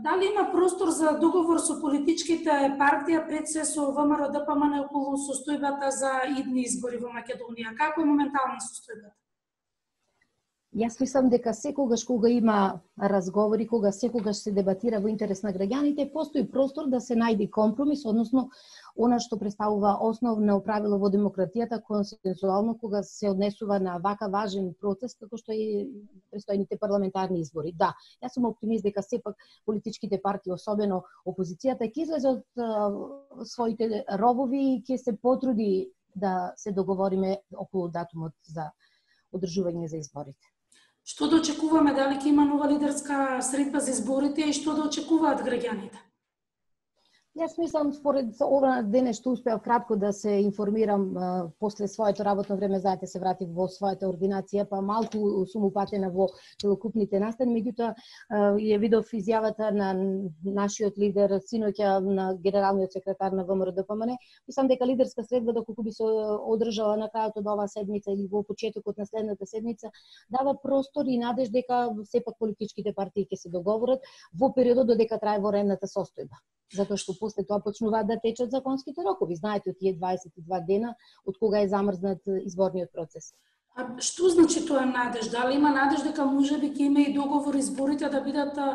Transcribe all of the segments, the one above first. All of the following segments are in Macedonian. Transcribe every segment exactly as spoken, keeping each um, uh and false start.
Дали има простор за договор со политичките партија, пред се со ВМРО-ДПМН околу состојбата за идни избори во Македонија? Како е моментално состојбата? Јас мислам дека секогаш кога има разговори, кога секогаш се дебатира во интерес на граѓаните, постои простор да се најде компромис, односно она што представува основно правило во демократијата, консенсуално кога се однесува на вака важен процес како што е престојните парламентарни избори. Да, јас сум оптимист дека сепак политичките партии, особено опозицијата, ќе излезе од uh, своите ровови и ќе се потруди да се договориме околу датумот за одржување за изборите. Што да очекуваме, дали ќе има нова лидерска средба за изборите и што да очекуваат граѓаните? Јас мислам, според ова денес што успеав кратко да се информирам а, после своето работно време, знаете, се вратив во својата ординација, па малку сум упатена во целокупните настани, меѓутоа ја видов изјавата на нашиот лидер синоќа на генералниот секретар на ВМРО-ДПМН. Мислам дека лидерска средба, доколку би се одржала на крајот од оваа седмица или во почетокот на следната седмица, дава простор и надеж дека сепак политичките партии ќе се договорат во периодот додека трае военната состојба. Затоа што после тоа почнуваат да течат законските рокови. Знаете, од тие дваесет и два дена од кога е замрзнат изборниот процес. А што значи тоа надеж? Дали има надеж дека можеби ќе има и договор изборите да бидат а,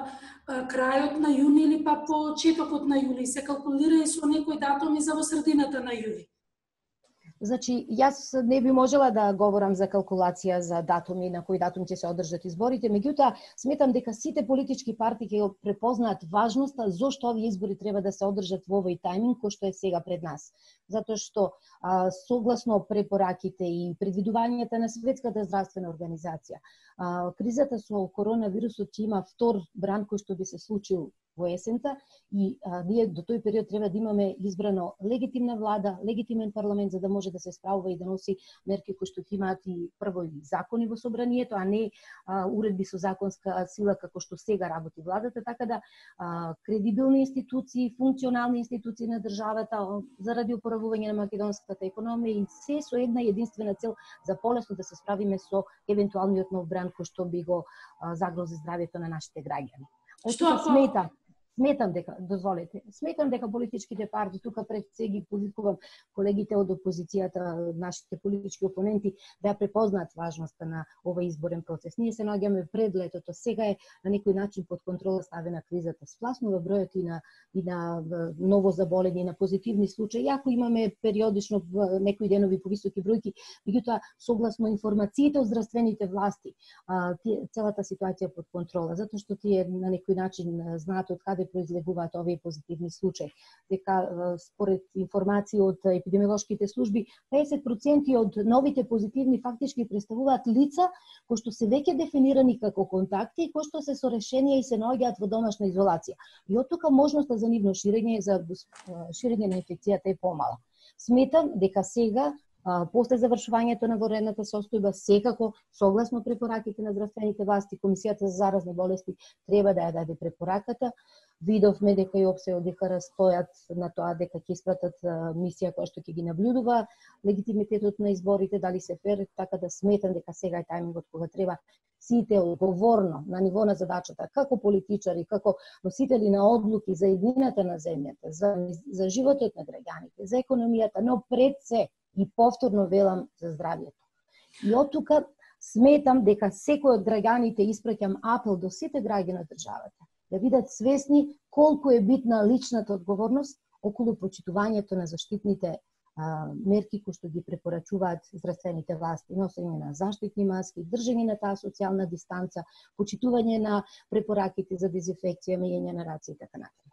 крајот на јуни или па почетокот на јули? Се калкулира и со некои датуми за во средината на јули? Значи, јас не би можела да говорам за калкулација за датуми, на кој датум ќе се одржат изборите, меѓутоа сметам дека сите политички партии ќе препознаат важноста зошто овие избори треба да се одржат во овој тајминг кој што е сега пред нас. Затоа што а, согласно препораките и предвидувањата на Светската здравствена организација, а, кризата со коронавирусот ќе има втор бран кој што би се случил во есента и а, ние до тој период треба да имаме избрано легитимна влада, легитимен парламент за да може да се справува и да носи мерки кои што ќе имаат и прво и закони во собранието, а не а, уредби со законска сила како што сега работи владата, така да а, кредибилни институции, функционални институции на државата заради опоравување на македонската економија и се со една единствена цел за полесно да се справиме со евентуалниот нов бран кој што би го а, загрози здравјето на нашите граѓани. Што сметам? Сметам дека, дозволете, сметам дека политичките партии, тука пред се ги повикувам колегите од опозицијата, нашите политички опоненти, да ја препознаат важноста на овој изборен процес. Ние се наоѓаме пред летото, сега е на некој начин под контрола ставена кризата, спласнува бројот и на, и на ново заболени, и на позитивни случаи, иако имаме периодично некои денови повисоки бројки, меѓутоа согласно информациите од здравствените власти, целата ситуација е под контрола, затоа што тие на некој начин знаат од каде произлегуваат овие позитивни случаи. Дека според информации од епидемиолошките служби, педесет проценти од новите позитивни фактички представуваат лица кои што се веќе дефинирани како контакти и кои што се со решенија и се наоѓаат во домашна изолација. И од тука можноста за нивно ширење, за ширење на инфекцијата е помала. Сметам дека сега после завршувањето на военната состојба, секако, согласно препораките на здравствените власти, Комисијата за заразни болести треба да ја даде препораката. Видовме дека и ОПСЕ и ОДИХР стојат на тоа дека ќе испратат мисија која што ќе ги наблюдува легитимитетот на изборите, дали се фер, така да сметам дека сега е тајмингот кога треба сите одговорно на ниво на задачата, како политичари, како носители на одлуки за еднината на земјата, за, за животот на граѓаните, за економијата, но пред се и повторно велам за здравјето. И од тука сметам дека секој од граѓаните, испраќам апел до сите граѓани на државата, да бидат свесни колку е битна личната одговорност околу почитувањето на заштитните а, мерки кои што ги препорачуваат здравствените власти, носење на заштитни маски, држење на таа социјална дистанца, почитување на препораките за дезинфекција, меѓање на раце и така натаму.